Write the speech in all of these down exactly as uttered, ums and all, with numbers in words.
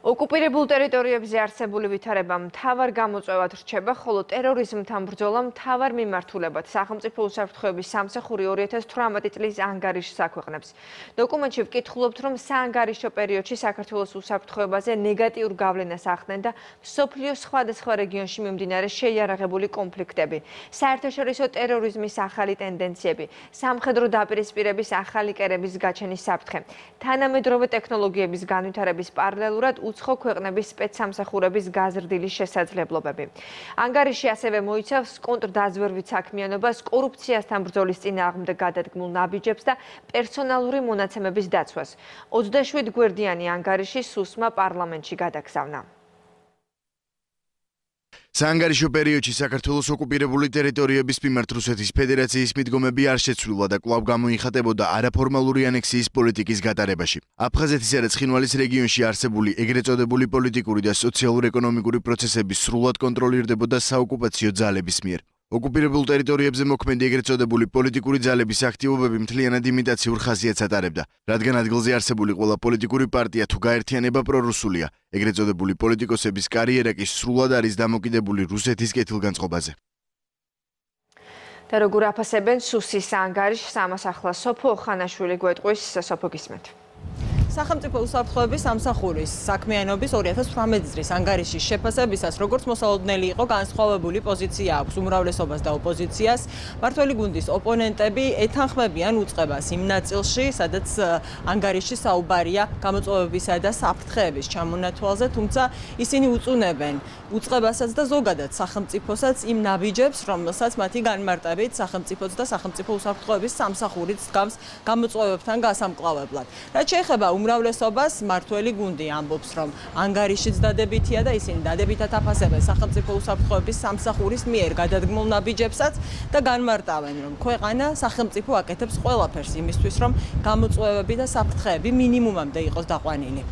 ოკუპირებულ ტერიტორიებზე არსებული ვითარება მთავარ გამოწვევად რჩება, ხოლო ტერორიზმთან ბრძოლა მთავარ მიმართულებად სახელმწიფო უსაფრთხოების სამსახური ორი ათას თვრამეტი წლის ანგარიშს აქვეყნებს. დოკუმენტში ვკითხულობთ, რომ საანგარიშო პერიოდში საქართველოს უსაფრთხოებაზე ნეგატიურ გავლენას ახდენ და მსოფლიოს სხვადასხვა რეგიონში მიმდინარე შეიარაღებული კონფლიქტები, საერთაშორისო ტერორიზმის ახალი ტენდენციები, სამხედრო დაპირისპირების ახალი კერების გაჩენის საფრთხე, თანამედროვე ტექნოლოგიების განვითარების პარალელურად უცხო ქვეყნების სპეცსამსახურების გაზრდილი შესაძლებლობები. ანგარიში ასევე მოიცავს კონტრდაზვერვით საქმიანობას, კორუფციასთან ბრძოლის წინააღმდეგ გადადგმულ ნაბიჯებს და პერსონალური მონაცემების დაცვას. ოცდაშვიდ გვერდიანი ანგარიში სუსმა პარლამენტში გადაგზავნა. საანგარიშო პერიოდში საქართველოს ოკუპირებული ტერიტორიების მიმართ რუსეთის ფედერაციის მიდგომები არ შეცვლილა და კვლავ გამოიხატებოდა არაფორმალური ანექსიის პოლიტიკის გატარებაში. აფხაზეთისა და ცხინვალის რეგიონში არსებული ეგრეთ წოდებული პოლიტიკური და სოციალურ-ეკონომიკური პროცესები სრულად კონტროლირდებოდა საოკუპაციო ძალების მიერ. ოკუპირებულ ტერიტორიებზე მოქმედი ეგრეთ წოდებული პოლიტიკური ძალების აქტივობები მთლიანად იმიტაციურ ხასიათს ატარებდა, რადგან ადგილზე არსებული ყველა პოლიტიკური პარტია თუ გაერთიანება პრორუსულია, ეგრეთ წოდებული პოლიტიკოსების კარიერა კი სრულად არის დამოკიდებული რუსეთის კეთილგანწყობაზე. და როგორ აფასებენ სუსის ანგარიშს, ამას ახლა სოფო ხანაშვილი გვეტყვის. სოფო, გისმენთ. სახელმწიფო უსაფრთხოების სამსახურის საქმიანობის ორი ათას თვრამეტი წლის ანგარიშის შეფასებისას, როგორც მოსალოდნელი იყო, განსხვავებული პოზიცია აქვს უმრავლესობას და ოპოზიციას. მმართველი გუნდის ოპონენტები ეთანხმებიან უწყებას იმ ნაწილში, სადაც ანგარიში საუბარია გამოწვევებისა და საფრთხეების ჩამონათვალზე, თუმცა ისინი უწუნებენ უწყებასაც და ზოგადად სახელმწიფოსაც იმ ნაბიჯებს, რომელსაც მათი განმარტებით სახელმწიფოც და სახელმწიფო უსაფრთხოების სამსახურიც დგამს გამოწვევებთან გასამკლავებლად. რაც შეეხება უმრავლესობას, მმართველი გუნდი ამბობს, რომ ანგარიშიც დადებითია და ისინი დადებითად აფასებენ სახელმწიფო უსაფრთხოების სამსახურის მიერ გადადგმულ ნაბიჯებსაც და განმარტავენ, რომ ქვეყანა სახელმწიფო აკეთებს ყველაფერს იმისთვის, რომ გამოწვევები და საფრთხეები მინიმუმამდე იყოს დაყვანილი.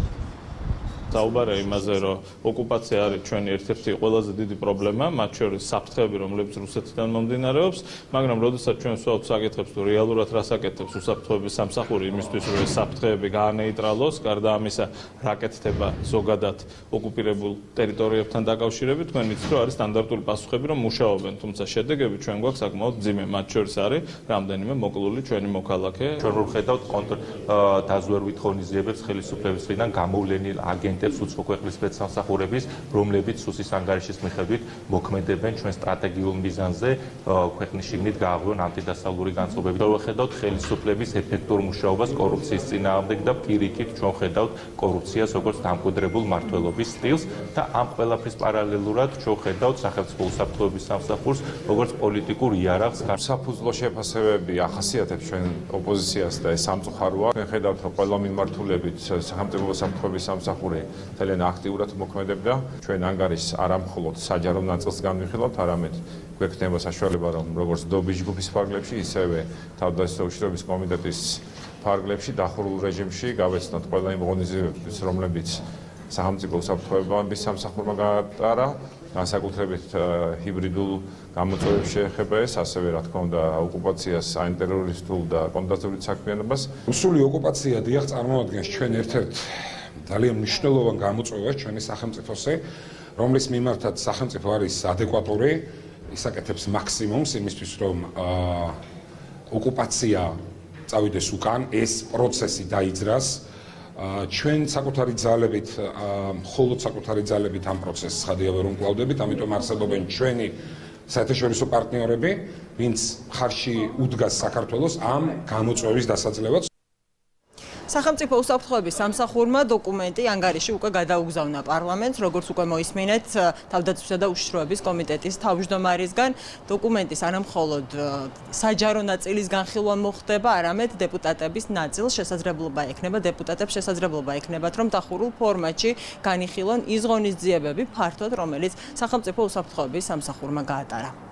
საუბარია იმაზე, რომ ოკუპაცია არის ჩვენი ერთ-ერთი ყველაზე დიდი პრობლემა, მათ შორის საფრთხეები, რომლებიც რუსეთიდან მომდინარეობს, მაგრამ როდესაც ჩვენ ვსვავთ საკითხებს, თუ რეალურად რას აკეთებს უსაფრთხოების სამსახური იმისთვის, რომ ეს საფრთხეები გაანეიტრალოს, გარდა ამისა, რა კეთდება ზოგადად ოკუპირებულ ტერიტორიებთან დაკავშირებით, თქვენ იცით, რომ არის სტანდარტული პასუხები, რომ მუშაობენ, თუმცა შედეგები ჩვენ გვაქვს საკმაოდ მძიმე, მათ შორის არის რამდენიმე მოკლული ჩვენი მოქალაქე. ჩვენ ვხედავთ კონტრდაზვერვით ღონისძიებებს ხელისუფლების მხრიდან გამოვლენილ აგენტ უცხო ქვეყნის სპეცსამსახურების, რომლებიც სუსის ანგარიშის მიხედვით მოქმედებენ ჩვენ სტრატეგიულ მიზანზე ქვეყნის შიგნით გააღვიონ ანტიდასავლური განწყობები. ვხედავთ ხელისუფლების ეფექტურ მუშაობას კორუფციის წინააღმდეგ და პირიქით ჩვენ ვხედავთ კორუფციას როგორც დამკვიდრებულ მმართველობის სტილს და ამ ყველაფრის პარალელურად ჩვენ ვხედავთ სახელმწიფო უსაფრთხოების სამსახურს როგორც პოლიტიკურ იარაღს. საფუძვლო შეფასებები ახასიათებს ჩვენ ოპოზიციას და ეს სამწუხაროა. ვხედავთ, რომ ყველა მიმართულებით სახელმწიფო უსაფრთხოების სამსახური ძალიან აქტიურად მოქმედებდა. ჩვენ ანგარიშს არა მხოლოდ საჯარო ნაწილს განვიხილავთ, არამედ გვექნება საშუალება, რომ როგორც დობის ჯგუფის ფარგლებში, ისევე თავდაცვის უშიშროების კომიტეტის ფარგლებში დახურულ რეჟიმში გავეცნოთ ყველა იმ ღონისძიებებს, რომლებიც სახელმწიფო უსაფრთხოების სამსახურმა გაატარა, განსაკუთრებით ჰიბრიდულ გამოწვევებს შეეხება ეს, ასევე რა თქმა უნდა ოკუპაციას, ანტიტერორისტულ და კონტრდაზვერვით საქმიანობას. რუსული ოკუპაცია დიახ წარმოადგენს ჩვენ ერთ-ერთ ძალიან მნიშვნელოვან გამოწვევას ჩვენი სახელმწიფოსე, რომლის მიმართაც სახელმწიფო არის ადეკვატური, ისაკეთებს მაქსიმუმს იმისთვის, რომ ოკუპაცია წავიდეს უკან, ეს პროცესი დაიძრას. ჩვენ საკუთარი ძალებით, მხოლოდ საკუთარი ძალებით ამ პროცესს ხადია ვერ უმკლავდებით, ამიტომ არსებობენ ჩვენი საერთაშორისო პარტნიორები, ვინც მხარში უდგას საქართველოს ამ გამოწვევის დასაძლევად. სახელმწიფო უსაფრთხოების სამსახურმა დოკუმენტი ანგარიში უკვე გადაუგზავნა პარლამენტს, როგორც უკვე მოისმინეთ თავდაცვისა და უშიშროების კომიტეტის თავმჯდომარისგან. დოკუმენტის არა მხოლოდ საჯარო ნაწილის განხილვა მოხდება, არამედ დეპუტატების ნაწილს შესაძლებლობა ექნება, დეპუტატებს შესაძლებლობა ექნებათ, რომ დახურულ ფორმატში განიხილონ ის ღონისძიებები ფართოდ, რომელიც სახელმწიფო უსაფრთხოების სამსახურმა გაატარა.